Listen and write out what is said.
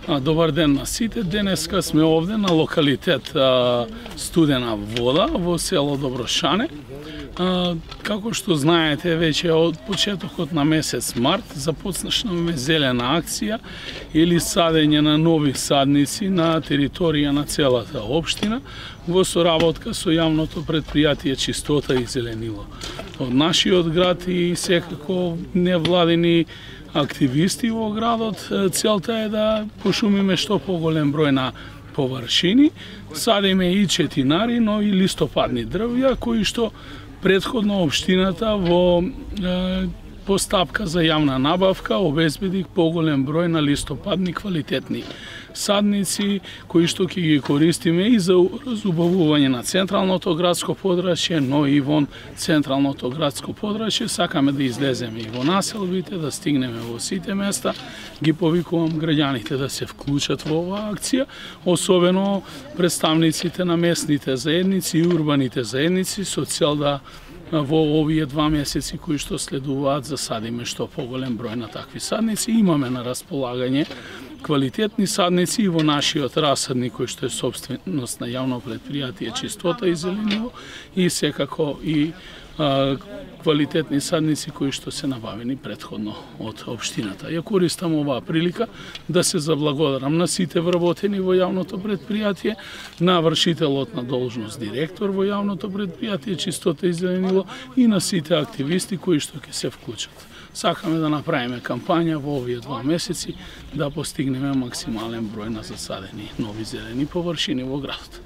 Добар ден на сите. Денеска сме овде на локалитет Студена вода во село Доброшане. Како што знаете, веќе од почетокот на месец март започнавме зелена акција или садење на нови садници на територија на целата општина во соработка со јавното предпријатие Чистота и зеленило. Од нашиот град и секако невладини активисти во градот, целта е да пошумиме што поголем број на површини, садиме и четинари, но и листопадни дрвја, кои што претходно општината во постапка за јавна набавка обезбеди поголем број на листопадни квалитетни садници, кои што ќе ги користиме и за разубавување на централното градско подрачје, но и вон централното градско подрачје. Сакаме да излеземе и во населбите, да стигнеме во сите места. Ги повикувам граѓаните да се вклучат во оваа акција, особено представниците на местните заедници и урбаните заедници, со цел да во овие 2 месеци кои што следуваат засадиме што поголем број на такви садници. Имаме на располагање квалитетни садници и во нашиот расадник кој што е собственост на јавно предпријатие Чистота и зеленило и секако и квалитетни садници кои што се набавени претходно од општината. Ја користам оваа прилика да се заблагодарам на сите вработени во јавното предпријатие, на вршителот на должност директор во јавното предпријатие Чистота и зеленило и на сите активисти кои што ќе се вклучат. Сакаме да направиме кампања во овие 2 месеци да постигнеме максимален број на засадени нови зелени површини во градот.